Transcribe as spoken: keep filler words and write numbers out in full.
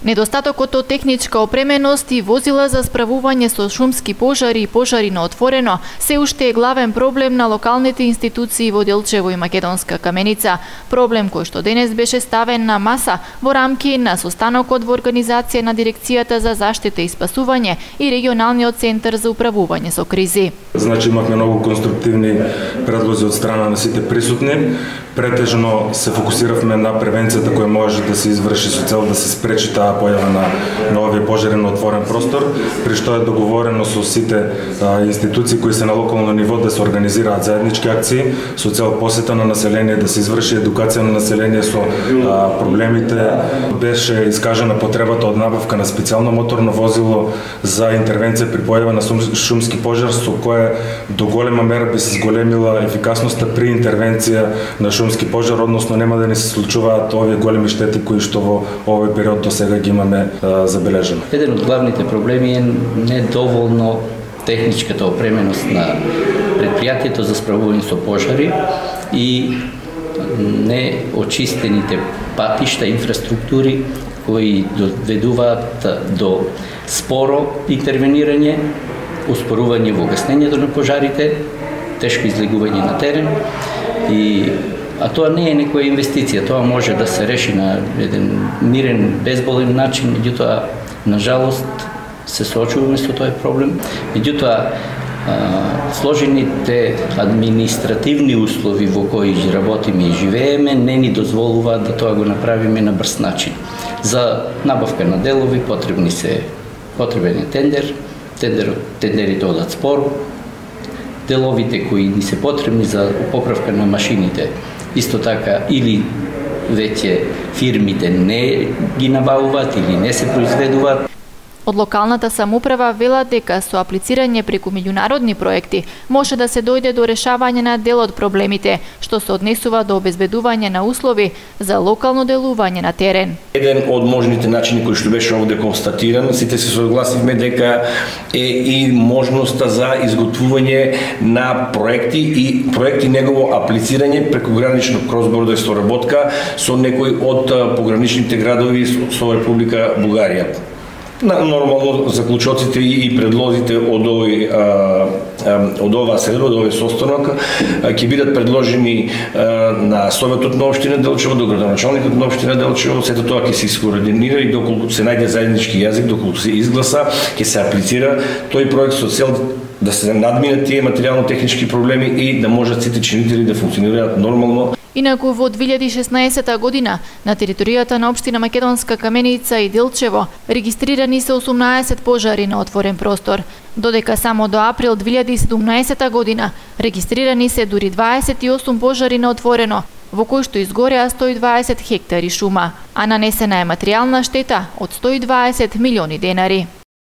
Недостатокот од техничка опременост и возила за справување со шумски пожари и пожари на отворено се уште е главен проблем на локалните институции во Делчево и Македонска Каменица. Проблем кој што денес беше ставен на маса во рамки на состанокот во организација на Дирекцијата за заштита и спасување и регионалниот центар за управување со кризи. Значи имавме многу конструктивни предлози од страна на сите присутни. Претежно се фокусиравме на превенцијата која може да се изврши со цел да се спречи таа појава на нови пожари на отворен простор, при што е договорено со сите а, институции кои се на локално ниво да се организираат заеднички акции со цел посета на население, да се изврши едукација на население со а, проблемите. Беше искажена потребата од набавка на специјално моторно возило за интервенција при појава на шумски пожар, со кое до голема мера би се зголемила ефикасноста при интервенција на шумски пожар, односно нема да не се случуваат овие големи штети кои што во овој период до сега ги имаме а, забележено. Еден од главните проблеми е недоволно техничката опременост на предпријатието за справување со пожари и неочистените патишта, инфраструктури кои доведуваат до споро интервенирање, успорување во гаснењето на пожарите, тешко излегување на терен и а тоа не е некоја инвестиција, тоа може да се реши на еден мирен, безболен начин, меѓутоа, на жалост, се соочуваме со тој проблем. Меѓутоа, сложените административни услови во кои работиме и живееме не ни дозволуваат да тоа го направиме на брз начин. За набавка на делови потребни се потребен е тендер, тендер тендерите одат споро, деловите кои ни се потребни за поправка на машините, исто така или веќе фирмите не ги набавуваат или не се произведуваат. Од локалната самоуправа велат дека со аплицирање преку меѓународни проекти може да се дојде до решавање на дел од проблемите, што се однесува до обезбедување на услови за локално делување на терен. Еден од можните начини кои што беше овде констатиран, сите се согласивме дека е и можноста за изготвување на проекти и проекти негово аплицирање преку гранично кросбордерство работка со некои од пограничните градови со Република Бугарија. Нормално заклучоците и предлозите од овој од оваа седба, од овој состанок ќе бидат предложени на Советот на општина Делчево, до градоначалникот на општина Делчево. Сето тоа ќе се искоординира и доколку се најде заеднички јазик, доколку се изгласа, ќе се аплицира тој проект со цел да се надминат тие материјално-технички проблеми и да можат сите чинители да функционираат нормално. Инаку во две илјади и шеснаесетта година на територијата на општина Македонска Каменица и Делчево регистрирани се осумнаесет пожари на отворен простор, додека само до април две илјади и седумнаесетта година регистрирани се дури дваесет и осум пожари на отворено, во кои што изгореа сто и дваесет хектари шума, а нанесена е материјална штета од сто и дваесет милиони денари.